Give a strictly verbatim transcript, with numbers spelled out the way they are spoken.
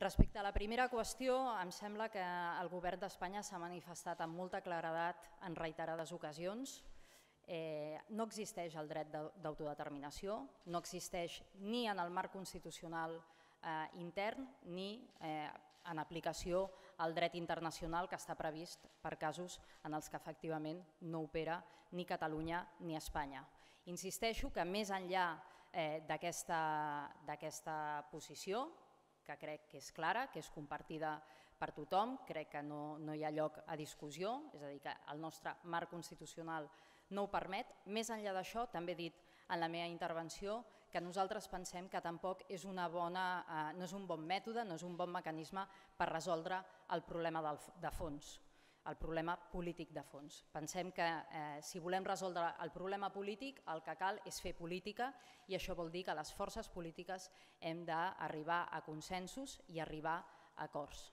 Respecte a la primera qüestió, em sembla que el govern d'Espanya s'ha manifestat amb molta claredat en reiterades ocasions. No existeix el dret d'autodeterminació, no existeix ni en el marc constitucional intern ni en aplicació al dret internacional que està previst per casos en els que efectivament no opera ni Catalunya ni Espanya. Insisteixo que més enllà d'aquesta posició, que crec que és clara, que és compartida per tothom, crec que no hi ha lloc a discussió, és a dir, que el nostre marc constitucional no ho permet. Més enllà d'això, també he dit en la meva intervenció que nosaltres pensem que tampoc és un bon mètode, no és un bon mecanisme per resoldre el problema de fons, el problema polític de fons. Pensem que si volem resoldre el problema polític el que cal és fer política i això vol dir que les forces polítiques hem d'arribar a consensos i arribar a acords.